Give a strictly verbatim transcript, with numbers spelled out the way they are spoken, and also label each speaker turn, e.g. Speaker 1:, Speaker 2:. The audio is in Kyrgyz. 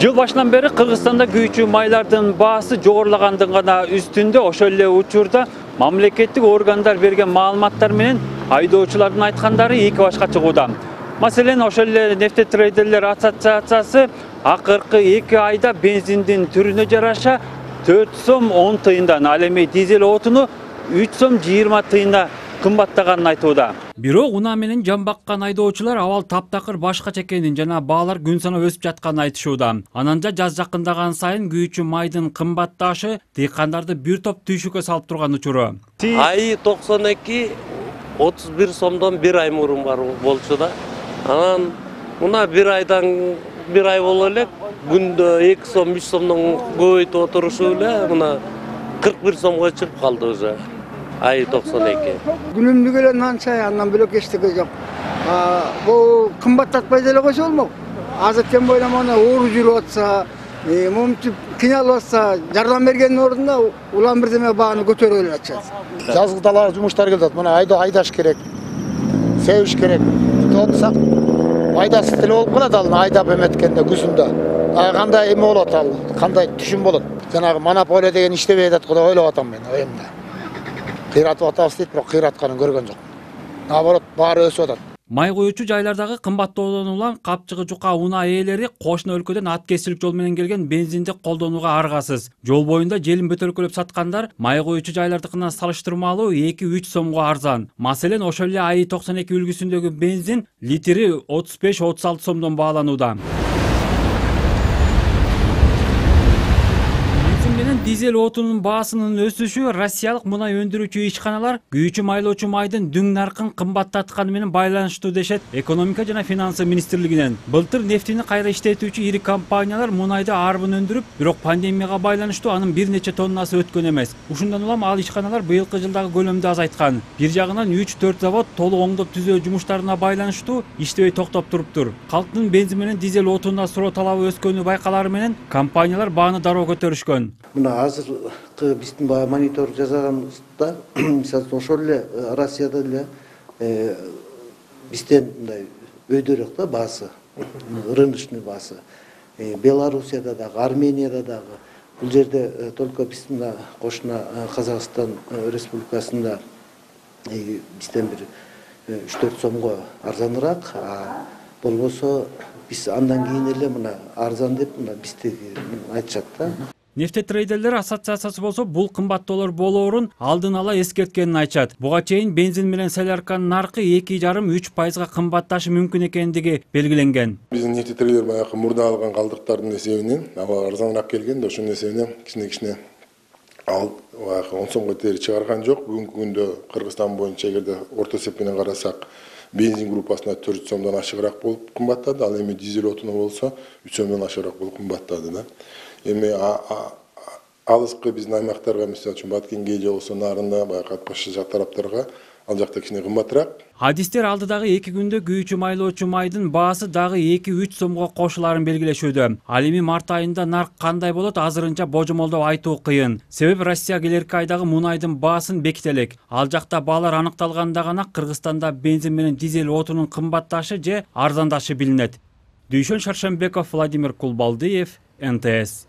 Speaker 1: Жыл башынан бeri Кыргызстанда күйүүчү майлардын баасы жогорулагандын гана үстүндө, ошол эле учурда мамлекеттик органдар берген маалыматтар менен айдоочулардын айткандары эки башка чыгууда. Маселен, ошол эле нефтетрейдерлер ассоциациясы акыркы эки айда бензиндин түрүнө жараша төрт сом он тыйындан, ал эми дизель отуну үч сом жыйырма тыйына кымбаттаганын айтууда. Бирок унаа менен жан баккан айдоочулар абал таптакыр башкача экенин жана баалар күн санап өсүп жатканын айтышууда. Ананда жаз жакындаган сайын күйүүчү майдын кымбатташы дыйкандарды бир топ түйшүккө салып турган учуру.
Speaker 2: Айы токсон эки отуз бир сомдон бир ай мурун бар болчу да. Анан мына бир айдан бир ай боло элек күндө эки сом үч сомдон көбөйтүп отурушуу эле мына кырк бир сомго чыгып калды уже. Айы токсон эки.
Speaker 3: Күнүмдүк эле нан чай, андан бөлөк эчтеке жок. Бул кымбаттатпай деле койсо болмок. Азыр тем бойлап мына оор жүрүп атса, момчуп кыйналып атса, жардам бергендин ордуна улам бирдеме бааны көтөрүп эле атышат. Жазгы далага жумуштар келип атат. Мына айда айдаш керек. Себиш керек. Отсак айдасыз деле болуп калат ал айдап эметкенде күзүндө. Кандай эме болот ал, кандай түшүм болот. Жанагы монополия деген иштебей атат го деп ойлоп атам мен оюмда. Кыйратып атабыз дейт, бирок кыйратканын көргөн жок. Наоборот, баары өсүп атат.
Speaker 1: Май коюучу жайлардагы кымбаттоодон улам капчыгы жука унаа ээлери кошуна өлкөдөн ат кесилик жол менен келген бензинди колдонууга аргасыз. Жол боюнда желин бөтөлкөлөп саткандар май коюучу жайлардыкына салыштырмалуу эки үч сомго арзан. Маселен, ошол эле айы токсон эки үлгүсүндөгү бензин литри отуз беш отуз алты сомдон бааланууда. Дизель отунун баасынын өсүшү Россиялык мунай өндүрүүчү ишканалар күйүүчү майлоочу майдын дүң наркын кымбаттатканы менен байланыштуу дешет Экономика жана финансы министрлигинен. Былтыр нефтини кайра иштетүүчү ири компаниялар мунайды арбын өндүрүп, бирок пандемияга байланыштуу анын бир нече тоннасы өткөн эмес. Ушундан улам ал ишканалар быйылкы жылдагы көлөмдү азайткан. Бир жагынан үч төрт завод толук оңдоп түзөө жумуштарына байланыштуу иштебей токтоп туруптур. Калктын бензин менен дизель отунуна суроо талабы өскөнү байкалары менен компаниялар бааны дароо көтөрүшкөн.
Speaker 4: Азыркы биздин баягы монитор жасаганыбызда, мисалы үчүн ошол эле Россияда эле бизден мындай өйдөрөөк да баасы, рыночный баасы. Белоруссияда дагы, Арменияда дагы, бул жерде только биздин кошуна Казакстан Республикасында бизден бир үч төрт сомго арзаныраак, болбосо биз андан кийин эле мына арзан деп мына биздеги айтышат да.
Speaker 1: Нефтетрейдерлер ассоциациясы болсо бул кымбаттоолор болоорун алдын ала эскерткенин айтышат. Буга чейин бензин менен солярканын наркы эки жарым үч пайызга кымбатташы мүмкүн экендиги белгиленген.
Speaker 5: Биздин нефтетрейдер баягы мурда алган калдыктардын эсебинен аба арзаныраак келген да, ошонун эсебинен кичине-кичине ал баягы он сомго тең чыгарган жок. Бүгүнкү күндө Кыргызстан боюнча эгерде орто эсеп менен карасак, бензин группасына төрт сомдон ашыгыраак болуп кымбаттады, ал эми дизель отуну болсо үч сомдон ашыгыраак болуп кымбаттады да. Эми алыскы биздин аймактарга, мисалы үчүн Баткенге же болсо нарында баягы Атбаш тараптарга ал жакта кичине кымбатыраак.
Speaker 1: Адистер алдыдагы эки күндө күйүүчү майлоочу майдын баасы дагы эки үч сомго кошулаарын белгилешүүдө. Ал эми март айында нарк кандай болот азырынча божомолдоп айтуу кыйын. Себеби Россия келерки айдагы мунайдын баасын беките элек. Ал жакта баалар аныкталганда гана Кыргызстанда бензин менен дизель отунун кымбатташы же арзандашы билинет. Дүйшөн Шаршембеков, Владимир Кулбалдиев, эн тэ эс.